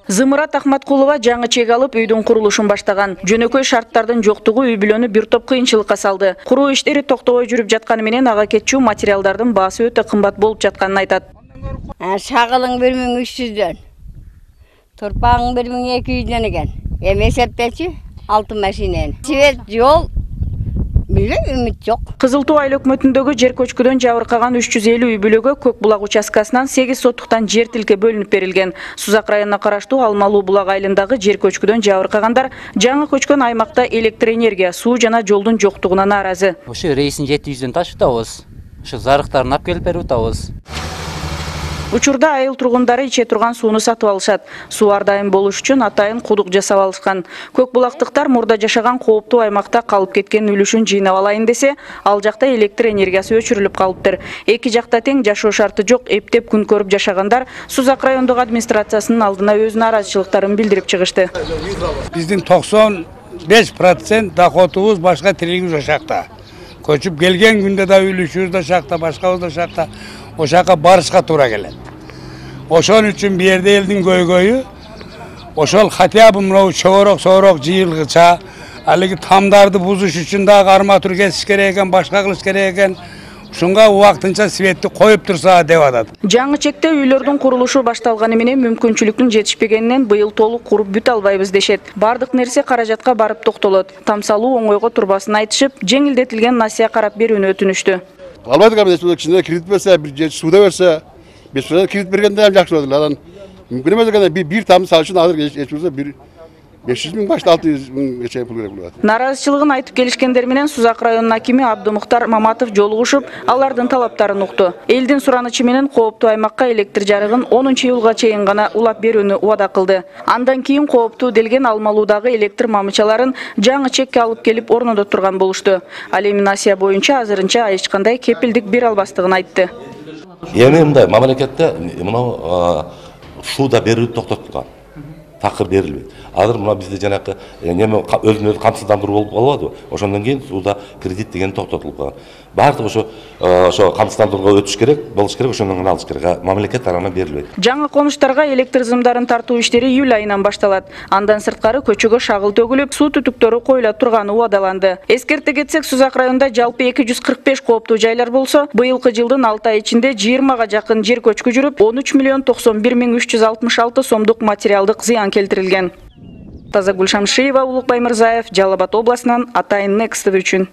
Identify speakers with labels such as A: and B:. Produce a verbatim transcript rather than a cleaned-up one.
A: Зымырат Ахматкулова жаңы чек алып үйдүн курулушун баштаган. Жөнөкөй шарттардын жоктугу үй бүлөнү бир топ кыйынчылыкка салды. Куруу иштери токтобой жүрүп жатканы менен ага кетчү материалдардын баасы өтө кымбат болуп жатканын айтат.
B: Шагылың бир миң үч жүздөн, турпагың бир миң эки жүздөн экен. Эми эсептечи алты машинени. Свет, жол билем, үмүт жок.
A: Кызыл Туу айыл өкмөтүндөгү жер көчкүдөн жабыркаган үч жүз элүү үй бүлөгө Көк булак участкасынан сегиз соттуктан жер тилке бөлүнүп берилген. Сузак районуна караштуу Алмалуу булак айылындагы жер көчкүдөн жабыркагандар жаңы көчкөн аймакта электр энергия, суу жана жолдун жоктугуна нааразы.
C: Ошо рейсин жети жүздөн ташып атабыз. Ошо зарыктарын алып келип берип атабыз.
A: Учурда айыл тургундары иче турган сууну сатып алышат. Суу ар дайым болуш үчүн атайын кудук жасап алышкан. Көк булактыктар мурда жашаган кооптуу аймакта калып кеткен үлүшүн жыйнап алайын десе, ал жакта электр энергиясы өчүрүлүп калыптыр. Эки жакта тең жашоо шарты жок, эптеп күн көрүп жашагандар Сузак райондук администрациясынын алдына өз нааразычылыктарын билдирип чыгышты.
D: Биздин токсон беш процент доходубуз башка тиригибиз ошакта. Көчүп келген күндө да үлүшүбүз да шакта, башкабыз да шакта. Ошака барышка туура келет. Ошон үчүн бу жерде элдин көйгөйү ошол хотя бы мына чогорок соорок жыйылгыча алиги тамдарды бузуш үчүн дагы арматура кесиш керек экен, башка кылыш керек экен. Ушунга убактынча светти коюп турса деп атат.
A: Жаңы чекте үйлөрдүн курулушу башталганы менен мүмкүнчүлүктүн жетишпегенинен быйыл толук куруп бүт албайбыз дешет. Бардык нерсе каражатка барып токтолот. Тамсалуу оңойго турбасын айтышып, жеңилдетилген насыя карап берүүнү өтүнүштү.
E: Албайдык ам эч кичине кредит берсе, бир же сууда берсе, беш кредит бергенде ham жакшы болот. Анан мүмкүн эмес экен, бир там сал үчүн азыр эч болсо бир беш жүз миң башта алты жүз миңгече пул керек болот.
A: Нааразычылыгын айтып келишкендер менен Сузак районунун акими Абдымуктар Маматов жолугушуп, алардын талаптарын укту. Элдин суранычы менен кооптуу аймакка электр жарыгын онунчу июлга чейин гана улап берүүнү убада кылды. Андан кийин кооптуу делген Алмалуудагы электр мамычаларын жаңы чекке алып келип орното турган болушту. Ал эми насыя боюнча азырынча эч кандай кепилдик бере албастыгын айтты.
F: Эми мындай мамлекетте мына сууда берүү токтотулган. Такыр берилбейт. Азыр мына бизде жанакы неме өзүн өзү камсыздандыруу болуп калбадыбы? Ошондон кийин сууда кредит деген токтотулуп калган. Баардыгы ошо ошо камсыздандырууга өтүш керек, болуш керек, ошондон кийин алыш керек. Мамлекет тарабынан берилбейт.
A: Жаңы конуштарга электр зымдарын тартуу иштери июль айынан башталат. Андан сырткары көчөгө шагыл төгүлүп, суу түтүктөрү коюла турганы убадаланды. Эскерте кетсек, Сузак районунда жалпы эки жүз кырк беш кооптуу жайлар болсо, быйылкы жылдын алты ай ичинде жыйырмага жакын жер көчкү жүрүп, он үч миллион токсон бир миң үч жүз алтымыш алты сомдук материалдык зыян келтирилген. Тазагүл Шамшиева, Улукбай Мырзаев, Жалал Абад областынан, Атайын Next үчүн.